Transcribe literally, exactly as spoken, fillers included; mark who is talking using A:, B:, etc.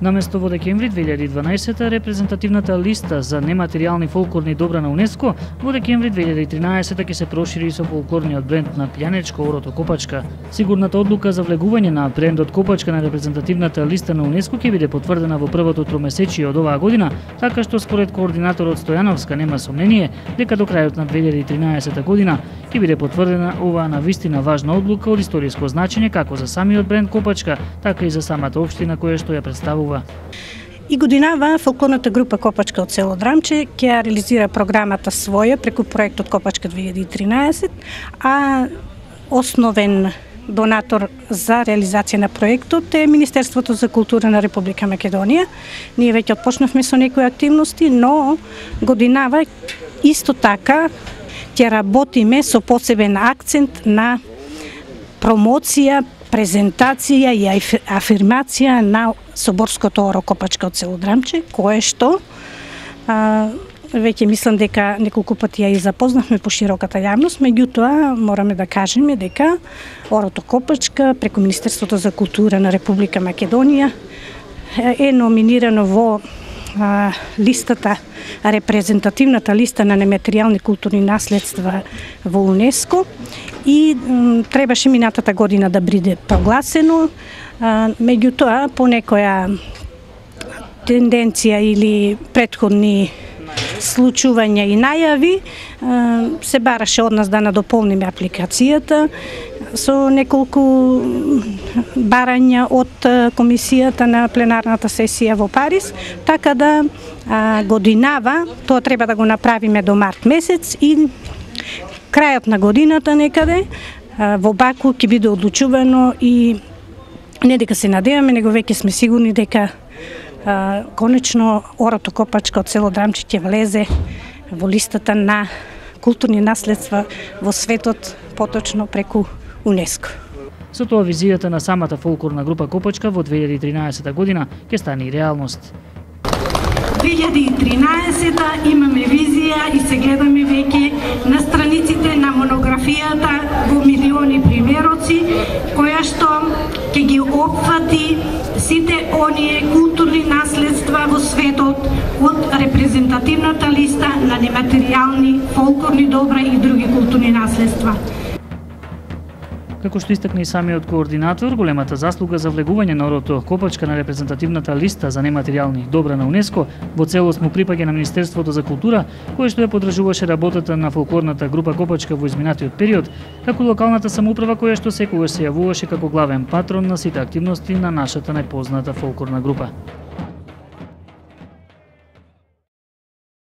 A: Наместо во декември две илјади и дванаесета репрезентативната листа за нематеријални фолклорни добра на УНЕСКО, во декември две илјади и тринаесета ќе се прошири со фолклорниот бренд на Пијанечко Орото Копачка. Сигурната одлука за влегување на брендот Копачка на репрезентативната листа на УНЕСКО ќе биде потврдена во првото тромесечие од оваа година, така што според координаторот Стојановска нема сомнение дека до крајот на две илјади и тринаесета година ќе биде потврдена оваа навистина важна одлука од историско значење како за самиот бренд Копачка, така и за самата општина која што ја представува.
B: И годинава фолклорната група Копачка од село Драмче ќе реализира програмата своја преку проектот Копачка две илјади и тринаесет, а основен донатор за реализација на проектот е Министерството за култура на Република Македонија. Ние веќе отпочнавме со некои активности, но годинава исто така ќе работиме со посебен акцент на промоција, презентација и афирмација на Соборското оро Копачка од село Драмче, кое што а, веќе мислам дека неколку пати ја и запознавме по широката јавност, меѓутоа мораме да кажеме дека Орото Копачка преку Министерството за култура на Република Македонија е номинирано во а, листата, репрезентативната листа на нематеријални културни наследства во УНЕСКО и м, требаше минатата година да биде прогласено, а, меѓутоа по некоја тенденција или претходни случувања и најави се бараше од нас да надополниме апликацијата со неколку барања од комисијата на пленарната сесија во Париз, така да годинава тоа треба да го направиме до март месец и крајот на годината некаде во Баку ќе биде одлучувано и не дека се надеваме, него веќе сме сигурни дека Uh, конечно Орото Копачка од село Драмче ќе влезе во листата на културни наследства во светот, поточно преку УНЕСКО.
A: Со тоа визијата на самата фолклорна група Копачка во две илјади и тринаесета година ќе стане и реалност.
C: две илјади и тринаесета имаме визија и се гледаме веќе на страниците на монографијата во милиони примероци, која што ќе ги опфати сите оние културни наследства во светот од репрезентативната листа на нематеријални фолклорни добра и други културни наследства.
A: Како што истакна и самиот координатор, големата заслуга за влегување на Орото Копачка на репрезентативната листа за нематеријални добра на УНЕСКО во целост му припаѓа на Министерството за култура, кое што ја подржуваше работата на фолклорната група Копачка во изминатиот период, како локалната самоуправа која што секогаш се јавуваше како главен патрон на сите активности на нашата најпозната фолклорна група.